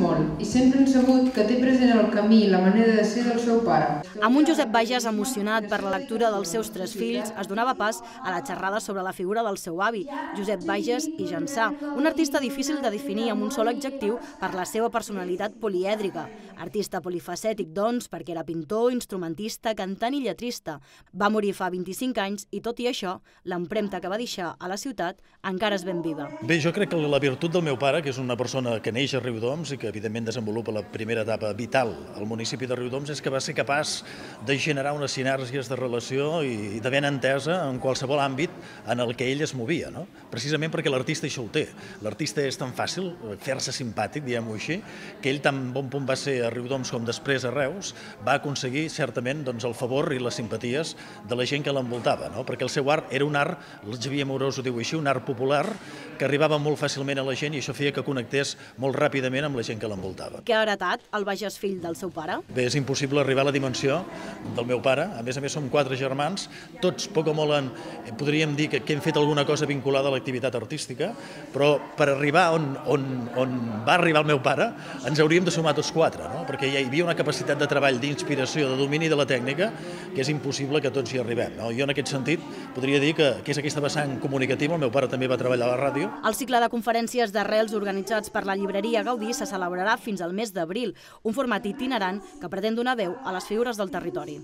molt i sempre han sabut que té present el camí i la manera de ser del seu pare. Amb un Josep Bages emocionat per la lectura dels seus 3 fills, es donava pas a la xerrada sobre la figura del seu avi, Josep Bages i Jansà, un artista difícil de definir amb un sol adjectiu per la seva personalitat polièdrica. Artista polifacètic, doncs, perquè era pintor, instrumentista, cantant i lletrista. Va morir fa 25 anys i, tot i això, l'empremta que va deixar a la ciutat encara és ben viva. Bé, jo crec que la virtut del meu pare, que és una persona que neix a Riudoms i que evidentment desenvolupa la primera etapa vital al municipi de Riudoms, és que va ser capaç de generar unes sinergies de relació i de ben entesa en qualsevol àmbit en el que ell es movia, no? Precisament perquè l'artista això ho té. L'artista és tan fàcil fer-se simpàtic, diguem-ho així, que ell tan bon punt va ser a Riudoms com després a Reus, va aconseguir certament el favor i les simpaties de la gent que l'envoltava, perquè el seu art era un art, el Xavier Amorós ho diu així, un art popular que arribava molt fàcilment a la gent i això feia que connectés molt ràpidament amb la gent que l'envoltava. Què ha heretat el Bages fill del seu pare? Bé, és impossible arribar a la dimensió del meu pare, a més som 4 germans, tots poc o molt podríem dir que hem fet alguna cosa vinculada a l'activitat artística, però per arribar on va arribar el meu pare ens hauríem de sumar tots 4, perquè hi havia una capacitat de treball, d'inspiració, de domini de la tècnica, que és impossible que tots hi arribem. Jo en aquest sentit podria dir que és aquesta vessant comunicativa, el meu pare també va treballar a la ràdio. El cicle de conferències d'arrels organitzats per la llibreria Gaudí se celebrarà fins al mes d'abril, un format itinerant que pretén donar veu a les figures del territori.